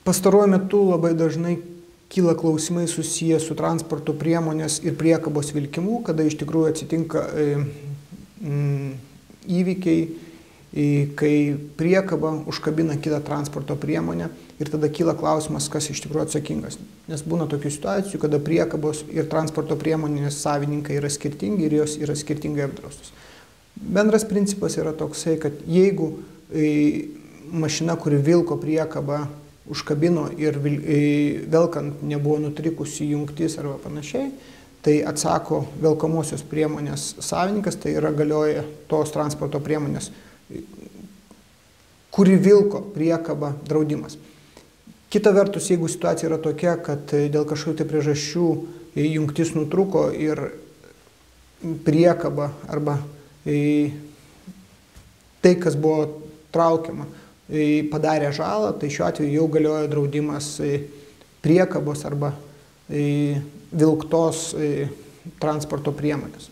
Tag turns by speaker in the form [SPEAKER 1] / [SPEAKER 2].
[SPEAKER 1] Pastaruoju metu labai dažnai kyla klausimai susiję su transporto priemonės ir priekabos vilkimu, kada iš tikrųjų atsitinka įvykiai, kai priekaba užkabina kitą transporto priemonę ir tada kyla klausimas, kas iš tikrųjų atsakingas. Nes būna tokių situacijų, kada priekabos ir transporto priemonės savininkai yra skirtingi ir jos yra skirtingai apdraustos. Bendras principas yra toksai, kad jeigu mašina, kuri vilko priekabą, užkabino ir velkant nebuvo nutrikusi jungtis arba panašiai, tai atsako velkamosios priemonės savininkas, tai yra galioja tos transporto priemonės, kuri vilko priekabą draudimas. Kita vertus, jeigu situacija yra tokia, kad dėl kažkokių tai priežasčių jungtis nutruko ir priekaba arba tai, kas buvo traukiama, padarė žalą, tai šiuo atveju jau galioja draudimas priekabos arba vilktos transporto priemonės.